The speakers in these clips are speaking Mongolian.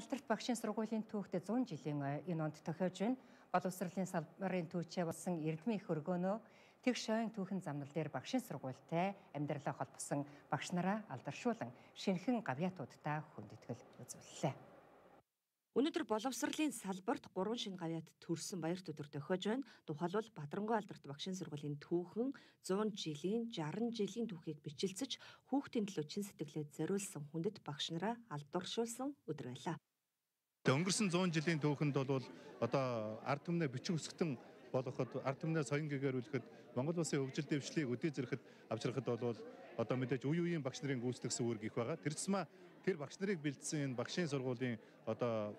алдарт багшийн сургуулийн түүхт 100 жилийн энэ онд тохиож байна. Боловсролын салбарын түүчээ болсон эрдмийн их өргөөнөө тэгш шойн түүхэн замнал дээр багшийн сургуультай амьдралаа холбосон багш нараа алдаршуулан шинэхэн гавьяатуудтай хүндэтгэл үзүүллээ. Өнөөдөр боловсролын салбарт 3 шинэ гавьяат төрсөн баярт өдөр тохиож байна. Тухайлбал Бадарангуй алдарт багшийн сургуулийн түүхэн 100 жилийн 60 жилийн түүхийг бичилцэж хүүхдийн төлөө чин сэтгэлээ зориулсан хүндэт багш нараа алдаршуулсан өдөр байлаа. Өнгөрсөн 100 жилийн түүхэнд бол одоо ард түмнээ бичин өсгөтөн болгоход ард түмнээ соён гэгэрүүлэхэд Монгол улсын хөгжил дэвшлийг өдөө зэрэхэд авчрахад бол одоо мэдээж үе үеийн багш нарын гүйцэтгэх үүрэг их байгаа. Тэр тусмаа тэр багш нарыг бэлдсэн энэ багшийн сургуулийн одоо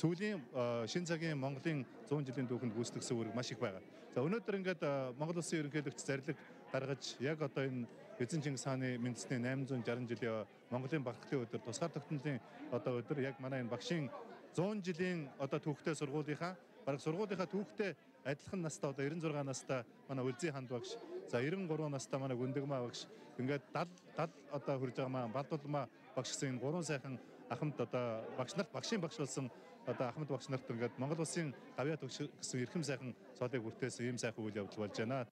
сүүлийн шин цагийн Монголын 100 жилийн түүхэнд гүйцэтгэсэн үүрэг маш их байгаа. За өнөөдөр ингээд Монгол улсын ерөнхийлөгч зарлиг гаргаж яг одоо энэ Эзэн Чингис хааны үндэсний 860 жилийн Монголын багталтын өдөр тусгаар тогтнолын одоо өдөр яг манай энэ багшийн 100 жилийн одоо түүхтэй сургуулийнхаа бараг сургуулийнхаа түүхтэй адилхан настай одоо 96 настай манай Үлзий ханд багш, за 93 настай манай Гүндэгмаа багш, ингээд 70 одоо хүрж байгаа маань Балдулмаа багш гэсэн энэ гурван сайхан ахмад одоо багш нарт багшийн багш болсон одоо ахмад багш нарт ингээд Монгол улсын гавьяат гэсэн эрхэм сайхан цолыг хүртээсэн ийм сайхан үйл явдал болж байна.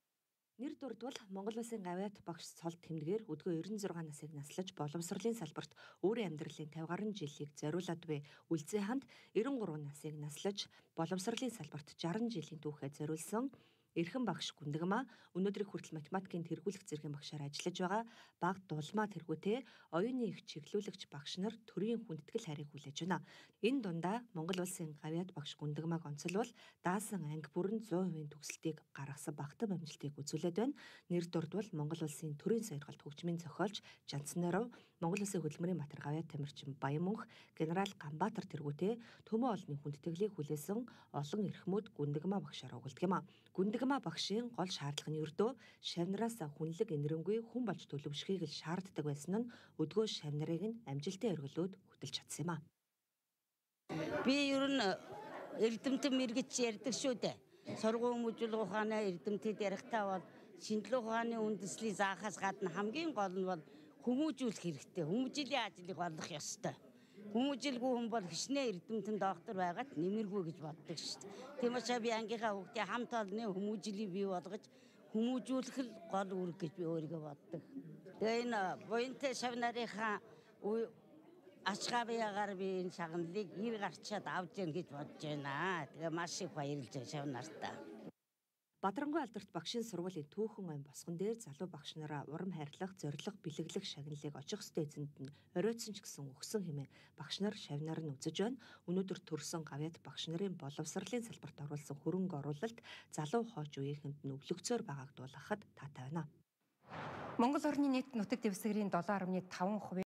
Нэр дурдвал Монгол улсын гавьяат багш цол тэмдгээр өдгөө 96 насыг наслаж боловсролын салбарт өөрийн амьдралын 50 гаруй жилийг зориулад буй Үлзий ханд 93 насыг наслаж боловсролын салбарт 60 жилийн түүхээ зориулсан эрхэм багш Гүндэгмаа өнөөдрийг хүртэл математикийн тэргүүлэх зэргийн багшаар ажиллаж байгаа. Бага дулмаа тэргүүтэй оюуны их чиглүүлэгч багш нар төрийн хүндэтгэл хайрыг хүлээж байна. Энэ дундаа Монгол улсын гавьяат багш Гүндэгмааг онцолбол даасан анги бүрэн 100% төгсөлтийг гаргасан багтав амжилтыг үзүүлээд байна. Нэр дурдвал Монгол улсын төрийн соёрголт хөгжмийн зохиолч Жанцнаров, Монгол улсын хөдөлмөрийн матер гавьяат тамирчин Баянмөнх, генерал Ганбаатар тэргүүтэй төмөө олонний хүндэтгэлийг хүлээсэн олон эрхмүүд Гүндэгмаа багшаар угалдаг юм а. Гүндэгмаа багшийн гол шаардлага нь ердөө шавнараас хүнлэг инэрэнгүй хүн болж төлөвшөхийг л шаарддаг байсан нь өдгөө шавнарыг нь амжилтын өргөлөөд хөтөлж чадсан юм а. Би ер нь эрдэмтэн мэрэгч ярьдаг шүү дээ. Сургууль мужил ухааны эрдэмтэд ярихдаа бол шинжилгээ ухааны үндэслэлийг заахаас гадна хамгийн гол нь бол хүмүүжүүлэх хэрэгтэй. Хүмүүжлийн ажлыг болгох ёстой. Хүмүүжилгүй хүн бол хичнээн эрдэмтэн доктор байгаад нэмэргүй гэж боддог шүү дээ. Тийм учраас би ангийнхаа хүүхдээ хамт олонны хүмүүжлийг бий болгож хүмүүжүүлэх л гол үүрэг гэж би өөрийгөө боддог. Тэгээ энэ буянтай шавнарынхаа ачгаабыягаар би энэ шагналыг ир гарчаад авч яах гэж бодож байна. Тэгээ маш их баярлж байгаа шавнартаа. Бадарангуй алдарт багшийн сургуулийн түүхэн ам босгон дээр залуу багш нараа урам хайрлах, зориг бэлэглэх шагналыг очих ёстой эзэнд нь оройтсон ч гэсэн өгсөн хэмээн багш нар шавнаар нь үзэж байна. Өнөөдөр төрсөн гавьяат багш нарын боловсролын салбарт оруулсан хөрөнгө оруулалт залуу хооч үеийнхэнд нь өвлөгцөөр байгааг дуулгахад таатай байна. Монгол орны нийт нутаг дэвсгэрийн 7.5%